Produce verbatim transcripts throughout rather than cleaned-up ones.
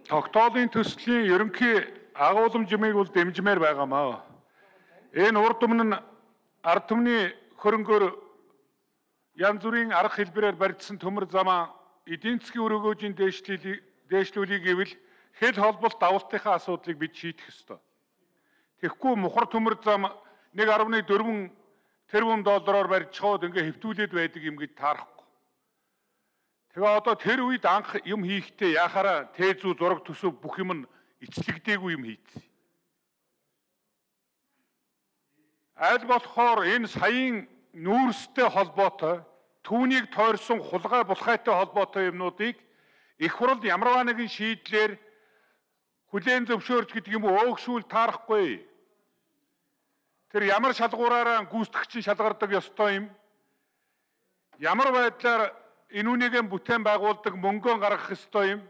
Тогтоолын төслийн ерөнхий агуулмжийг бол дэмжмээр байгаамаа. Энэ урд өмнө нь ард түмний хөрөнгөөр янз бүрийн арга хэлбэрээр барьдсан төмөр замаа эдийн засгийн өрөөгөөжийн дээшлүүлэх гэвэл хэл холболт давалтынхаа асуудлыг бид шийдэх ёстой. Тэгэхгүй мухар төмөр зам нэг арван дөрвөн тэрбум доллараар барьж чаад ингээ хэвтүүлээд байдаг юм гэж таарахгүй. Тэгээ одоо тэр үед анх юм хийхдээ яхаараа тээзүү зураг төсөв бүх юм нь эцлэгдээгүй юм хийцээ. Аль болохоор энэ саяын нүүрстэй холбоотой түүнийг тойрсон хулгай булхайтай холбоотой юмнуудыг их хурл ямарваа нэгэн шийдлэр хүлээн зөвшөөрч гэдэг юм өөгшүүл таарахгүй. Тэр ямар шалгуураараа гүйцэтгэгч шалгардаг ёстой юм. Ямар байдлаар энүүнийгээ бүтээн байгуулдаг мөнгөө гаргах ёстой юм.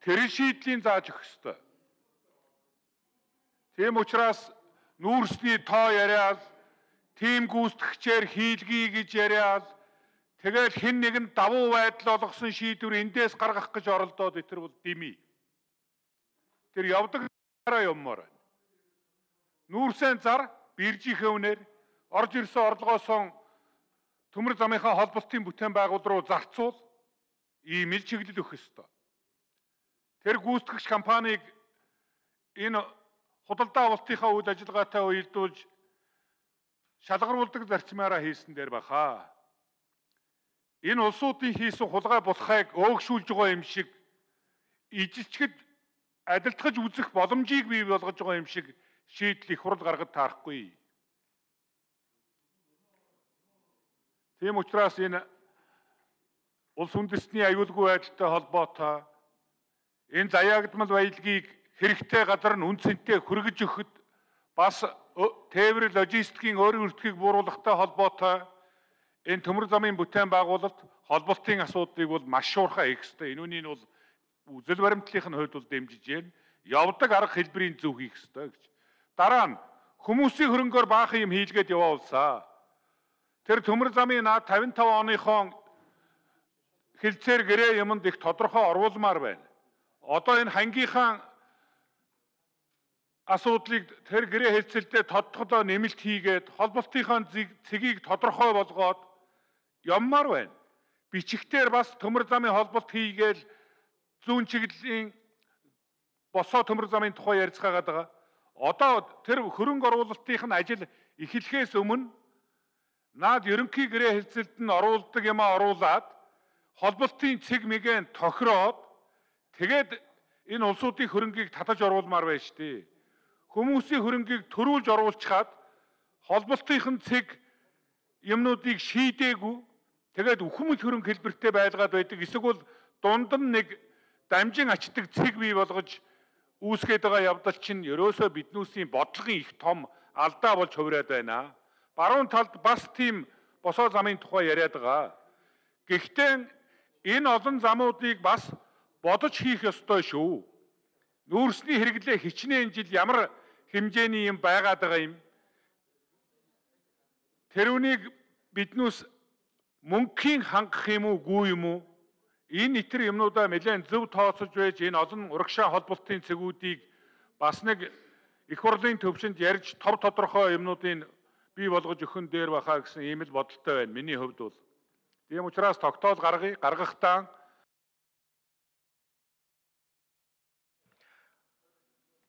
Тэр шийдлийн зааж өгөх ёстой. Тийм учраас нүүрсний тоо яриад, тийм гүйцэтгэгчээр хийлгий гэж яриад, тэгэл хэн нэгэн давуу байдал олгосон шийдвэр эндээс гаргах гэж оролдоод итэр бол дими. Тэр явдаг дараа юммаар байна. Нүүрсэн зар биржийнхээ үнээр орж ирсэн орлогоосоо төмөр замынхаа холболтын бүтээн байгуул руу зарцуул ийм ил чиглэл өгөх ёстой. Тэр гүйцэтгэгч компанийг энэ худалдаа авалтынхаа үйл ажиллагаатай уялдуулж шалгаруулдаг зарчмаараа хийсэн дээр баха. Энэ улсуудын хийсэн хулгай булхайг өөгшүүлж байгаа юм шиг ижилчгэд адилтгаж үзэх боломжийг бий болгож байгаа юм шиг шийдэл их хурл гаргаж таарахгүй. Тийм учраас энэ улс үндэстний аюулгүй байдалтай холбоотой энэ заяагдмал баялагийг хэрэгтэй газар нь үнцэнтэй хүргэж өгөхөд бас тээвэр логистикийн өөрийн өртгийг бууруулахтай холбоотой энэ төмөр замын бүтээн байгуулалт холболтын асуудлыг бол маш шуурхай хийх ёстой. Энүүнийг бол үзэл баримтлалын хувьд бол дэмжиж байна. Явдаг арга хэлбэрийн зөв хийх ёстой гэж. Дараа нь хүмүүсийн хөрөнгөөр баахан юм хийлгээд яваулсаа. Тэр төмөр замын наад тавин таван оныхон хилцээр гэрээ юмд их тодорхой оруулмаар байна. Одоо энэ хангийнхаа асуудлыг тэр гэрээ хэлцэлдээ тодтогдоо нэмэлт хийгээд холболтынхаа цэгийг тодорхой болгоод явмаар байна. Бичигтэр бас төмөр замын холболт хийгээл зүүн чиглэлийн босоо төмөр замын тухай ярилцгаагаад байгаа. Одоо тэр хөрөнгө оруулалтын ажил эхлэхээс өмнө наад ерөнхий гэрээ хэлцэлд нь оруулдаг юмаа оруулаад холболтын цэг мэгэн тохироод тэгээд энэ улсуудын хөрөнгийг татаж оруулмаар байна шүү дээ. Хүмүүсийн хөрөнгийг төрүүлж оруулчихад холболтын цэг юмнуудыг шийдээгүй тэгээд үхэмэл хөрөнгө хэлбэртэй байлгаад байдаг. Эсвэл дунд нь нэг дамжин ачдаг цэг бий болгож үүсгээд байгаа явдал чинь ерөөсөө биднүүсийн бодлогын их том алдаа болж хувираад байна. Баруун талд бас тийм босоо замын тухай яриад байгаа. Гэхдээ энэ олон замуудыг бас бодож хийх ёстой шүү. Нүүрсний хэрэглээ хичнээн жил ямар хэмжээний юм байгаад байгаа юм. Тэрүүнийг биднүүс мөнгөхийн хангах юм уу, гүй юм уу? Энэ итэр юмнуудаа нэлээд зөв тооцож байж энэ олон урагшаа холболтын цэгүүдийг бас нэг их хурлын төвшөнд ярьж тов тодорхой юмнуудыг бий болгож өгөн дээр бахаа гэсэн ийм л бодолтой байна. Миний хувьд бол. Тийм учраас тогтоол гаргая, гаргахдаа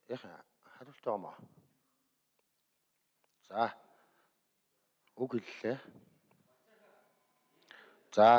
яха харуулт байгаа мó. За. Үг хэллээ. За